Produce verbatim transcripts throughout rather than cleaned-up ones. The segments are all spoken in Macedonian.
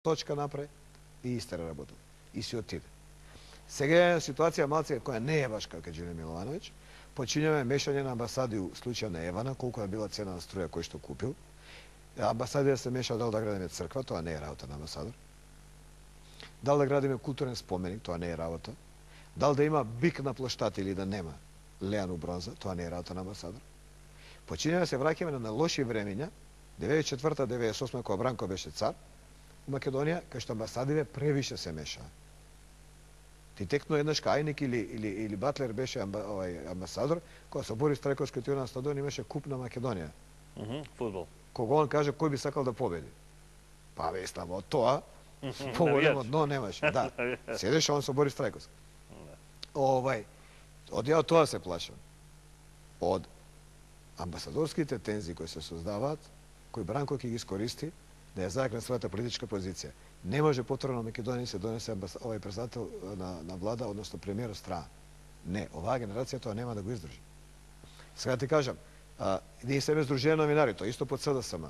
точка направи и истера работа. И си отиде. Сега е ситуација малце која не е баш како Џеле Миловановиќ. Почињаме мешање на амбасади у случај на Евана, колку е била цена на струја кој што купил. Амбасадија се меша дал да градиме црква, тоа не е работа на амбасадор. Дал да градиме културен споменик, тоа не е работа. Дал да има бик на плоштата или да нема леан у бронза, тоа не е работа на амбасадор. Почињаме се враќаме на лоши времења, деветдесет и четврта деветдесет и осма кога Бранко беше цар, у Македонија, кај што амбасадиве превише се мешаа. Ти текно еднаш Кајник или, или, или Батлер беше амба, овај, амбасадор, кога со Борис Трајковски отиде на стадион имаше куп на Македонија. Mm -hmm, фудбал. Кога он каже кој би сакал да победи. Па бе, ставо тоа, поголемо дно немаше. Да, седеше он со Борис Трајковски. Овај, од ја тоа се плашам. Од амбасадорските тензии кои се создаваат, кои Бранко ќе ги искористи да ја зајакне својата политичка позиција. Не може повторно Македонија се донесе овај председател на, на влада, односно премиер од страна. Не, оваа генерација тоа нема да го издржи. Сега ти кажам, а, ние себе Сдружение новинари, тоа исто под СДСМ,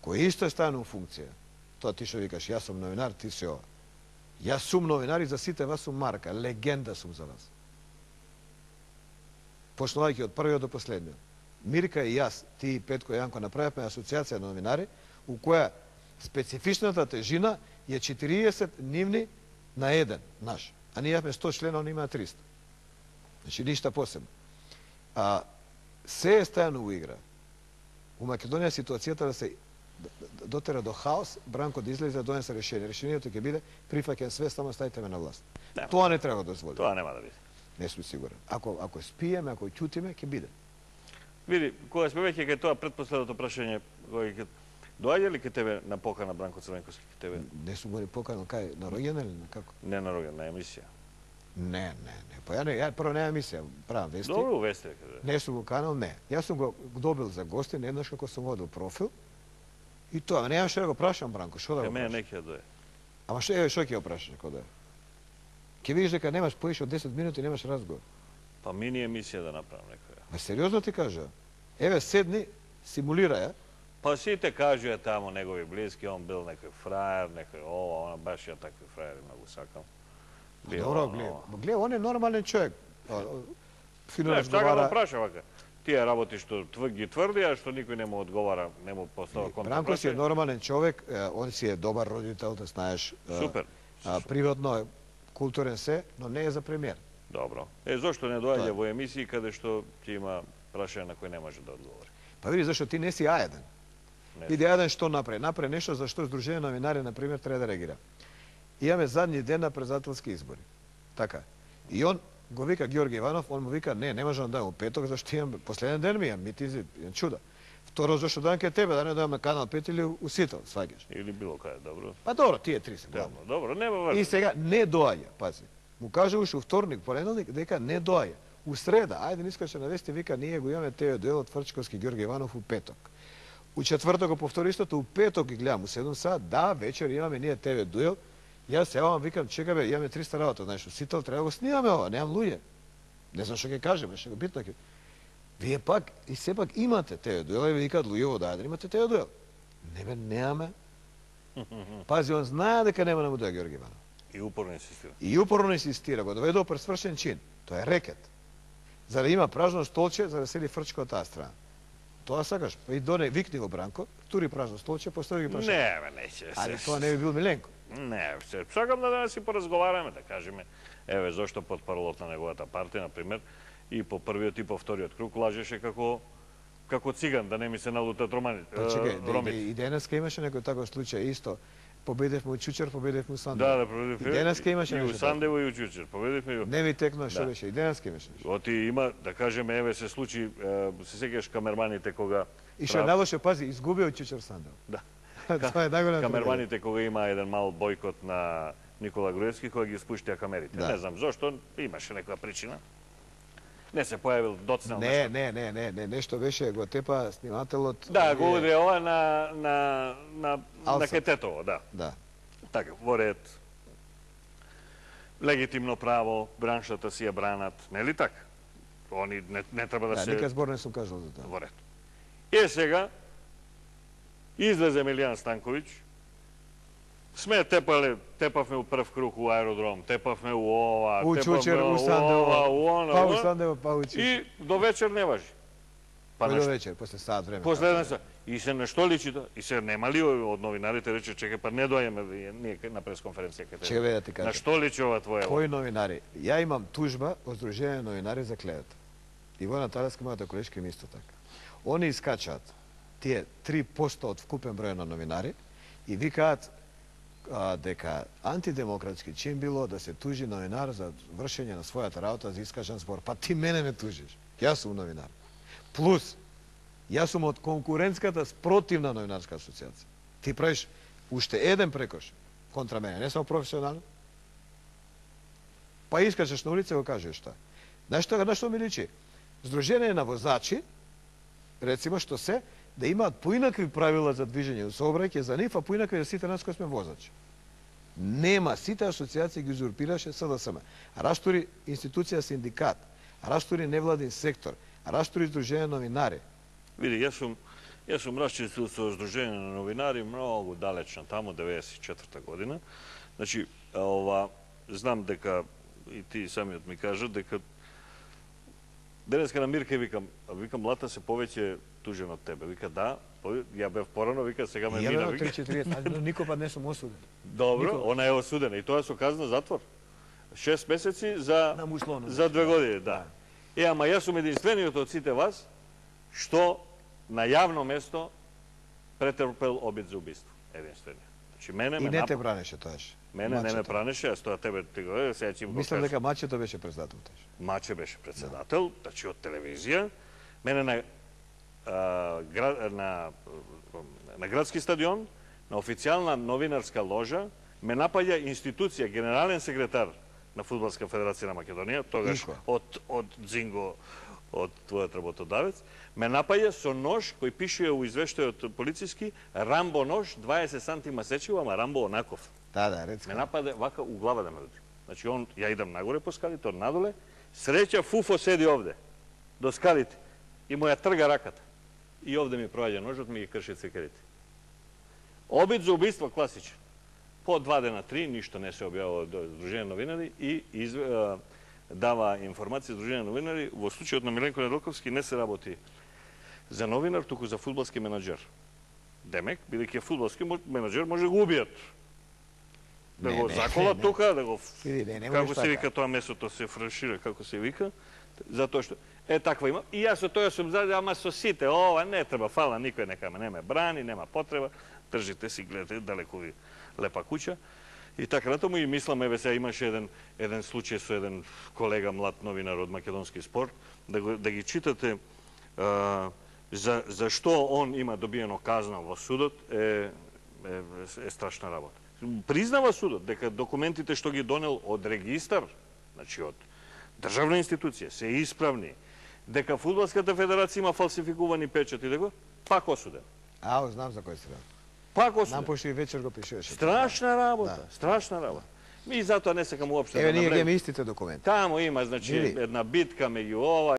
кој исто е ставено у функција. Тоа ти што викаш, јас сум новинар, ти си ова. Јас сум новинар и за сите вас сум марка, легенда сум за вас. Почнувајќи од првиот до последниот. Мирка и јас, ти и Петко и Јанко направивме асоцијација на новинари, у која специфичната тежина е четириесет нивни на еден наш. А ние имаме сто члена, они имаат триста. Значи, ништа посебно. А, се е стајано у игра. У Македонија ситуацијата да се дотера до хаос, Бранко да излезе да донесе решение. Решението ќе биде прифаќен све, само ставите ме на власт. Нема. Тоа не треба да дозволи. Тоа нема да биде. Не сум сигурен. Ако, ако спиеме, ако ќутиме, ќе биде. Види, кога сме веќе кај тоа предпоследното прашање, кој ќе доаѓа ли ке тебе на покана Бранко Црвенковски ке тебе? Не сум го ни поканал, кај, на роѓен или на како? Не на роѓен, на емисија. Не, не, не. Па ја не, ја прво нема емисија, правам вести. Добро вести каде. Не сум го канал, не. Јас сум го добил за гости, еднаш како сум водил профил. И тоа, немаше да го прашам Бранко, што да го Ке мене прашам? не ќе дое. Ама што е, што ќе го прашаш како да е? Ќе видиш дека немаш поише од десет минути, немаш разговор. Па мини емисија да направам некоја. Ма сериозно ти кажа. Еве седни, симулира ја. Па сите кажуја тамо негови блиски, он бил некој фраер, некој ова, она баш ја такви фраери многу сакам. Добро, гледа. Гледа, он е нормален човек. Фино Не, што разговара. да праша вака. Тие работи што твр ги тврди, а што никој не му одговара, не му постава контакт. Бранко си е нормален човек, он си е добар родител, да знаеш. Супер. Приватно е културен се, но не е за премиер. Добро. Е, зошто не доаѓа во емисии каде што ќе има прашање на кој не може да одговори? Па види, зашто ти не си аеден. Види, аеден што направи? Направи нешто за што Сдружение новинари, например, треба да реагира. Имаме задни ден на председателски избори. Така. И он го вика Георги Иванов, он му вика, не, не може да дадам у петок, зашто имам последен ден ми имам митинзи, чуда. Второ, зашто дадам ке тебе, да не дадам на Канал пет или у Сител, сваѓаш. Или било каде, добро. Па добро, тие три се главно. Добро, нема важно. И сега не доаѓа, пази. Му каже уште у вторник, понеделник, дека не доаѓа. У среда, ајде не искаше на вести, вика, ние го имаме теј дуел од Фрчковски Георги Иванов у петок. У четврток го повтори истото, у петок ги гледам, у седум сат, да, вечер имаме ние ТВ дуел. Јас се јавам, викам, чека бе, имаме триста работа, знаеш, у Сител треба да го снимаме ова, немам луѓе. Не знам што ќе кажеме, што го битно ќе. Вие пак и сепак имате ТВ дуел, и ви викаат луѓе да имате ТВ дуел. Не бе, немаме. Пази, он знае дека нема да му доја Георги Иванов. И упорно инсистира. И упорно инсистира, го доведува пред свршен чин. Тоа е рекет. За да има празно столче, за да седи Фрчко од таа страна. Тоа сакаш, па и доне, викни го Бранко, тури празно столче, постави ги прашање. Не, бе, неќе. Али тоа не би бил Миленко. Не, се, сакам да да си поразговараме, да кажеме, еве, зошто под паролот на неговата партија, например, и по првиот и по вториот круг лажеше како како циган, да не ми се налутат романи. Па чекај, и денеска имаше некој таков случај исто. Победевме у Чучер, победевме у Сандево. Да, да, победевме. И денеска имаше и нешто. у Сандево и у Чучер, победевме и у... Не ми текна што беше, и денеска имаше нешто. Оти има, да кажеме, еве се случи, се сеќаш камерманите кога... И што најлошо, пази, изгубија у Чучер Сандево. Да. Тоа е најголем. Камерманите кога има еден мал бойкот на Никола Груевски, кога ги спуштија камерите. Не знам зошто, имаше некоја причина. Не се појавил доцнел не, нешто. Не, не, не, не, нешто беше, го тепа снимателот... Да, го удрија ова на, на, на, на Кететово, да. Да. Така, во ред. Легитимно право, браншата си ја бранат, нели така? Они не, не треба да, да се... Да, никад збор не сум кажал за тоа. Во ред. Е сега, излезе Милијан Станковиќ сме тепале, тепавме у прв круг у аеродром, тепавме у ова, У тепавме Чучер, у у Сандево, ова, у она, па у у она, Сандево, па у Чучер. и до вечер не важи. Па до нешто- вечер, после сат време. После така една да. са. И се на што личи тоа? И се нема ли од новинарите рече, чекај, па не дојаме ние на пресконференција кај тебе. Чекај да ти На кажам. што личи ова твоја? Кои новинари? Ја имам тужба од Сдружение на новинари за клевета. И Војна Талеска, мојата колешка, им исто така. Они искачаат тие три посто од вкупен број на новинари и викаат а, дека антидемократски чин било да се тужи новинар за вршење на својата работа за искажан збор. Па ти мене ме тужиш. Јас сум новинар. Плюс, јас сум од конкурентската спротивна новинарска асоциација. Ти правиш уште еден прекош контра мене, не само професионално. Па искачаш на улица и го кажеш што. Знаеш што, на што ми личи? Сдружение на возачи, рецимо што се, да имаат поинакви правила за движење у сообраќај за нив, а поинакви за сите нас кои сме возачи. Нема, сите асоциации ги узурпираше С Д С М. Раштури институција синдикат, раштури невладин сектор, раштури Сдружение новинари. Види, јас сум јас сум расчистил со Сдружение на новинари многу далечно таму, деветдесет и четврта година. Значи, ова, знам дека и ти самиот ми кажа дека денеска на Мирка викам, викам Лата се повеќе тужен од тебе. Вика да, ја бев порано, вика сега ме Ја мина. бев Вика. три четириесет, но никој пат не сум осуден. Добро, Никога. она е осудена и тоа со казна затвор. Шест месеци за На мусловно. за две години, да. Е, ама јас сум единствениот од сите вас што на јавно место претрпел обид за убиство. Единствениот. Значи мене И ме не нап... те бранеше тоаш. мене не ме Мачето. пранеше, јас тоа тебе ти го сега ќе го Мислам кажам. дека Мачето беше председател тоаш. Маче беше председател, значи од телевизија. Мене на а, град, на на градски стадион, на официјална новинарска ложа, ме напаѓа институција, генерален секретар на Фудбалска федерација на Македонија, тогаш Ико. од од Дзинго, од твојот работодавец, ме напаѓа со нож кој пише у извештајот полициски Рамбо нож, дваесет сантима сечиво, ама Рамбо онаков. Да, да, рецка. Ме нападе вака у глава да ме удари. Значи он, ја идам нагоре по скалите, он надоле, среќа Фуфо седи овде, до скалите, и му ја трга раката. И овде ми проаѓа ножот, ми ги крши цекерите. Обид за убиство класичен. По два дена, три, ништо не се објавува до Сдружение новинари и из, а, дава информација Сдружение новинари. Во случајот на Миленко Неделковски не се работи за новинар, туку за фудбалски менаџер. Демек, бидејќи фудбалски менаџер може да го убијат. Да Не, го не, заколат не, не. тука, да го... Види, не, не како можеш се така. вика тоа месото, се франшира, како се вика, затоа што е таква има. И јас со тоа сум за, ама со сите, ова не треба, фала, никој нека ме не ме брани, нема потреба, држите си, гледате, далеку ви лепа куќа. И така натаму и мислам, еве сега имаше еден еден случај со еден колега млад новинар од Македонски спорт, да го, да ги читате а, за за што он има добиено казна во судот е е, е страшна работа. Признава судот дека документите што ги донел од регистар, значи од државна институција, се исправни, дека Фудбалската федерација има фалсификувани печати, дека пак осуден. Ао, знам за кој се работи. Пак Нам осуден. пошто и вечер го пишуваше. Страшна работа, Да. страшна работа. И затоа не сакам уопште Еве да ние ги навлегам. имаме истите документи. Таму има, значи, Види. една битка меѓу ова